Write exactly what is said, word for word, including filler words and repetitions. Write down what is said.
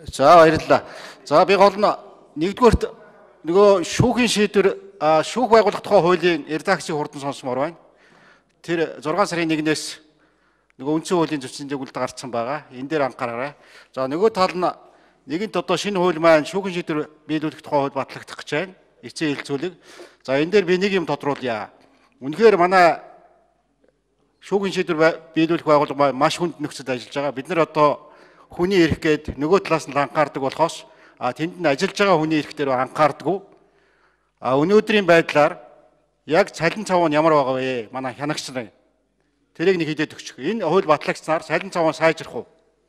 За баярлалаа. За би гол нь нэгдүгээрт нөгөө шүүхийн шийдвэр шүүх байгуулах тухай хуулийн редакцийг хурдан сонсомоор байна. Тэр зургаан сарын нэгнээс нөгөө үндсэн хуулийн зөрчлийн зөвлөлд гарцсан байгаа. Энэ дээр анхаараарай. За нөгөө тал нь нэгэнт одоо шинэ хууль маань шүүхийн шийдвэр биелүүлэх тухай хууль батлагдах гэж байна. Эцсийн хэлцүүлэг. За энэ дээр би нэг юм тодруулъя. Үнэхээр манай шүүхийн шийдвэр биелүүлэх байгууллага маш хүнд нөхцөлд ажиллаж байгаа. Бид нар одоо хүний эрх гээд нөгөө талаас нь анхаардаг болохоос а тэнд нь ажиллаж байгаа хүний эрх дээр анхаардаггүй. А өнөөдрийн байдлаар яг цалин цав нь ямар байгаа вэ? Манай хянагч нар. Тэрийг нэг хэлээд өгчих. Энэ хууль батлагчснаар цалин цав нь сайжрах уу?